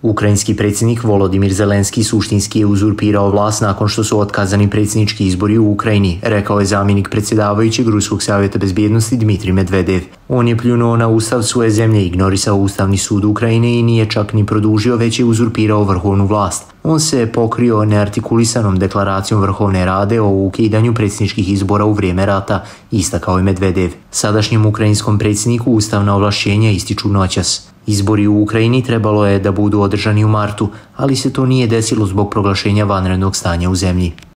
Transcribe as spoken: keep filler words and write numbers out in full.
Ukrajinski predsjednik Volodimir Zelenski suštinski je uzurpirao vlast nakon što su otkazani predsjednički izbori u Ukrajini, rekao je zamjenik predsjedavajućeg Ruskog savjeta bezbjednosti Dmitrij Medvedev. On je pljunuo na ustav svoje zemlje, ignorisao Ustavni sud Ukrajine i nije čak ni produžio, već je uzurpirao vrhovnu vlast. On se pokrio neartikulisanom deklaracijom Vrhovne rade o ukidanju predsjedničkih izbora u vrijeme rata, istakao je Medvedev. Sadašnjem ukrajinskom predsjedniku ustavna ovlašćenja ističu noćas. Izbori u Ukrajini trebalo je da budu održani u martu, ali se to nije desilo zbog proglašenja vanrednog stanja u zemlji.